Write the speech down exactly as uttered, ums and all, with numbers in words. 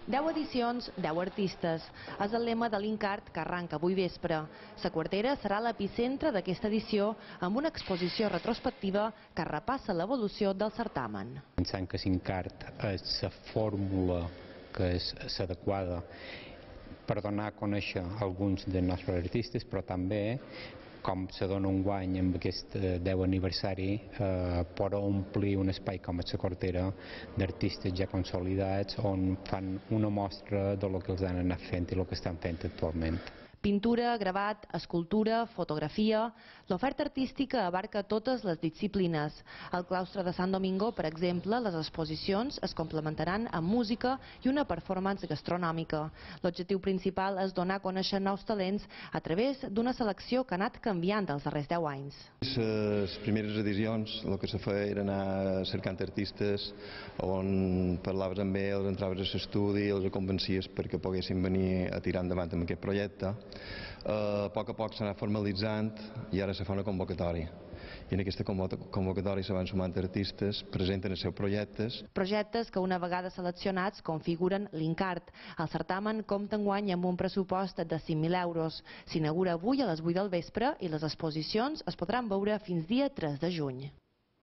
deu edicions, deu artistes. És el lema de l'Incart, que arranca avui vespre. La Quartera serà l'epicentre d'aquesta edició amb una exposició retrospectiva que repassa l'evolució del certamen. Pensant que l'Incart és la fórmula que és l'adequada per donar a conèixer alguns dels nostres artistes, però també com se dona un guany amb aquest deu aniversari, eh, per omplir un espai com la Quartera d'artistes ja consolidats on fan una mostra de lo que els han anat fent i el que estan fent actualment. Pintura, gravat, escultura, fotografia... L'oferta artística abarca totes les disciplines. Al claustre de Sant Domingo, per exemple, les exposicions es complementaran amb música i una performance gastronòmica. L'objectiu principal és donar a conèixer nous talents a través d'una selecció que ha anat canviant els darrers deu anys. Les primeres edicions el que se feia era anar cercant artistes on parlaves amb ells, entraves a l'estudi, els convencies perquè poguessin venir a tirar endavant amb aquest projecte. A poc a poc s'ha anat formalitzant i ara se fa una convocatòria. I en aquesta convocatòria se van sumant artistes, presenten els seus projectes. Projectes que una vegada seleccionats configuren l'Incart. El certamen compta enguany amb un pressupost de cinc mil euros. S'inaugura avui a les vuit del vespre i les exposicions es podran veure fins dia tres de juny.